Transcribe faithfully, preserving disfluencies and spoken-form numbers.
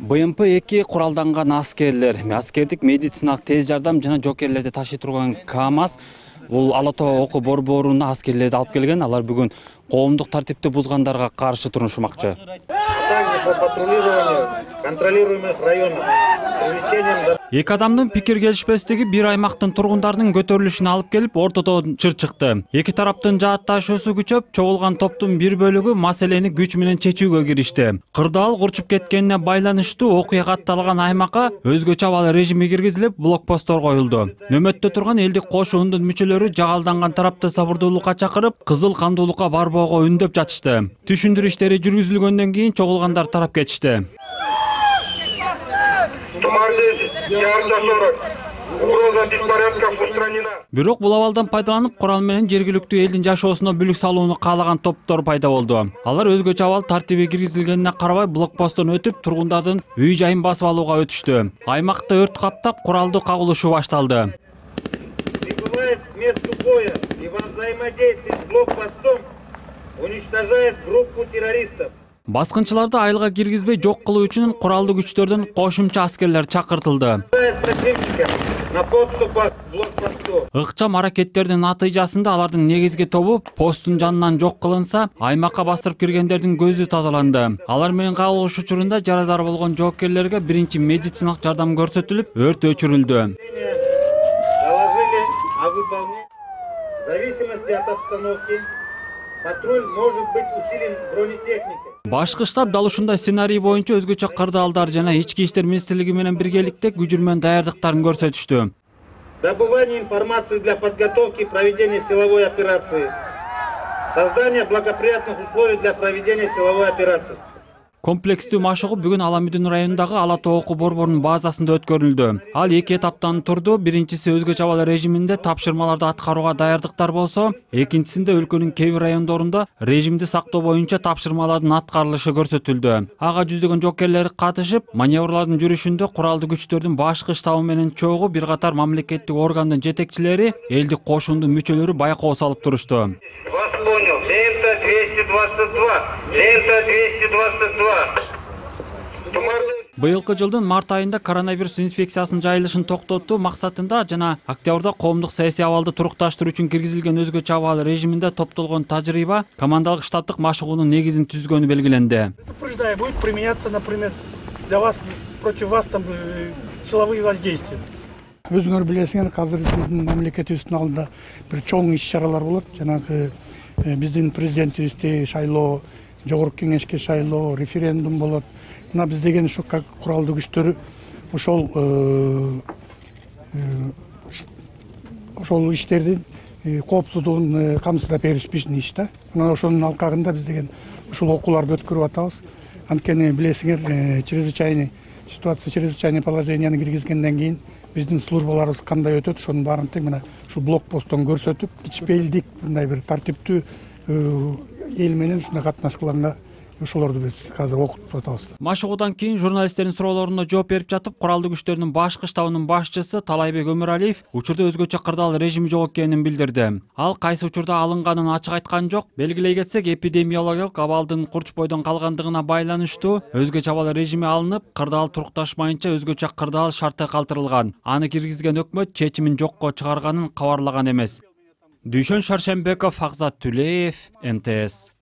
Б М П эки куралданган аскерлер, аскердик медициналык тез жардам жана жокерлерди ташый турган КАМАЗ бул Ала Тоо окуу борборуна аскерлерди алып келген. Алар бүгүн коомдук тартипти бузгандарга каршы турушмакчы. Эки адамдын пикир келишпестиги бир аймактын тургундарынын көтөрүлүшүнө алып келип, ортодо чыр чыкты. Эки тараптын жаатташуусу күчөп, чогулган топтун бир бөлүгү маселени күч менен чечүүгө киришти. Кырдаал курчуп кеткенине байланыштуу окуя катталган аймакка өзгөчө абал режими киргизилип, блокпосттор коюлду. Нөмөттө турган элдик кошуундун мүчөлөрү жагалданган тарапты сабырдуулукка чакырып, кызыл кандуулукка барбоого үндөп жатышты. Түшүндүрүү иштери жүргүзүлгөндөн кийин чогулгандар тарап кетишти. Бирок бул абалдан пайдаланып, курал менен жергиликтүү элдин жашоосуна бүлүк салууну каалаган топтор пайда болду. Алар өзгөчө абал тартиби киргизилгенине карабай блокпосттон өтүп, тургундардын үй жайын басып алууга өтүштү. Аймакта өрт каптап, куралдуу кагылышуу башталды. Прибывает к месту боя и во взаимодействии с блокпостом уничтожает группу террористов. Баскынчыларды айылга киргизбей жок кылуу үчүн куралдуу күчтөрдөн кошумча аскерлер чакыртылды. Ыкчам аракеттердин натыйжасында алардын негизги тобу посттун жанынан жок кылынса, аймакка бастырып киргендердин көзү тазаланды. Алар менен кагылыш учурунда жарадар болгон жоокерлерге биринчи медициналык жардам көрсөтүлүп, өрт өчүрүлдү. В зависимости от обстановки патруль может быть усилен бронетехникой. Башкы штаб дал ушундай сценарий боюнча өзгөчө кырдаалдар жана ички иштер министрлиги менен биргеликте күжүрмөн даярдыктарын көрсөтүштү. Добывание информации для подготовки и проведения силовой операции. Создание благоприятных условий для проведения силовой операции. Комплекстүү машыгуу бүгүн Ала Мүдүн районундагы Ала Тоо окуу борборунун базасында өткөрүлдү. Ал эки этаптан турду. Биринчиси өзгөчө абал режиминде тапшырмаларды аткарууга даярдыктар болсо, экинчисинде өлкөнүн кээ бир райондорунда режимди сактоо боюнча тапшырмалардын аткарылышы көрсөтүлдү. Ага жүздөгөн жокерлер катышып, маневрлардын жүрүшүндө куралдуу күчтөрдүн башкы штабы менен чогуу бир катар мамлекеттик органдын жетекчилери, элдик кошуундун мүчөлөрү байкоо салып турушту. Лента двести двадцать два. Лента двести двадцать два. Быйылкы жылдын март айында коронавирус инфекциясынын жайылышын токтотуу максатында жана октябрда коомдук саясий абалды турукташтыруу үчүн киргизилген өзгөчө абал режиминде топтолгон тажрыйба командалык штабтык машыгуунун негизин түзгөнү белгиленди. Будет применяться, например, для вас, против вас там силовые воздействия. Өзүңөр билесиңер, азыр биздин мамлекетибиздин алдында бир чоң иш-чаралар болот. Жанагы биздин президентибизди шайлоо, жогорку кеңешке шайлоо, референдум болот. Мына биз деген ушу как куралдуу күчтөр ошол ошол иштердин коопсуздугун камсыздап бериш биздин иш да. Мына ошонун алкагында биз деген ушул окууларды өткөрүп атабыз. Анткени билесиңер, чрезвычайный ситуация, чрезвычайный положенияны киргизгенден кийин биздин службаларыбыз кандай өтөт, ошонун баарын тең мына ушул блокпосттон көрсөтүп, кичпейилдик мындай бир тартиптүү эл менен ушундай катнашкыларга ошолорду биз азыр окутуп атабыз. Машыгуудан кийин журналисттердин суроолоруна жооп берип жатып, куралдуу күчтөрдүн башкы штабынын башчысы Талайбек Өмүралиев учурда өзгөчө кырдаал режими жок экенин билдирди. Ал кайсы учурда алынганын ачык айткан жок. Белгилей кетсек, эпидемиологиялык абалдын курч бойдон калгандыгына байланыштуу өзгөчө абал режими алынып, кырдаал турукташмайынча өзгөчө кырдаал шарты калтырылган. Аны киргизген өкмөт чечимин жокко чыгарганын кабарлаган эмес. Дүйшөн Шаршембеков, Акзат Түлеев, Н Т С.